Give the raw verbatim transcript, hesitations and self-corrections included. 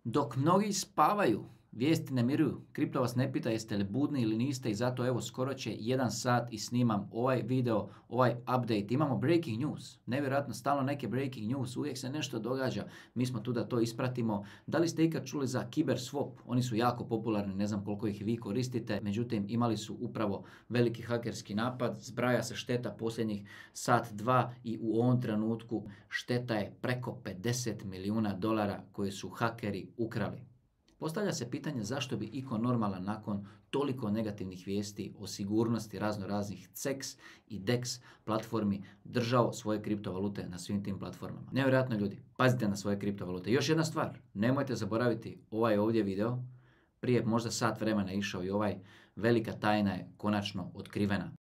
Dok mnogi spavaju, vijesti ne miruju. Kripto vas ne pita jeste li budni ili niste i zato evo skoro će jedan sat i snimam ovaj video, ovaj update. Imamo breaking news, nevjerojatno stalno neke breaking news, uvijek se nešto događa. Mi smo tu da to ispratimo. Da li ste ikad čuli za Kiberswap? Oni su jako popularni, ne znam koliko ih vi koristite. Međutim, imali su upravo veliki hakerski napad. Zbraja se šteta posljednjih sat, dva i u ovom trenutku šteta je preko pedeset milijuna dolara koje su hakeri ukrali. Postavlja se pitanje zašto bi iko normalan nakon toliko negativnih vijesti o sigurnosti razno raznih C E X i D E X platformi držao svoje kriptovalute na svim tim platformama. Nevjerojatno ljudi, pazite na svoje kriptovalute. Još jedna stvar, nemojte zaboraviti ovaj ovdje video, prije možda sat vremena išao i ovaj, velika tajna je konačno otkrivena.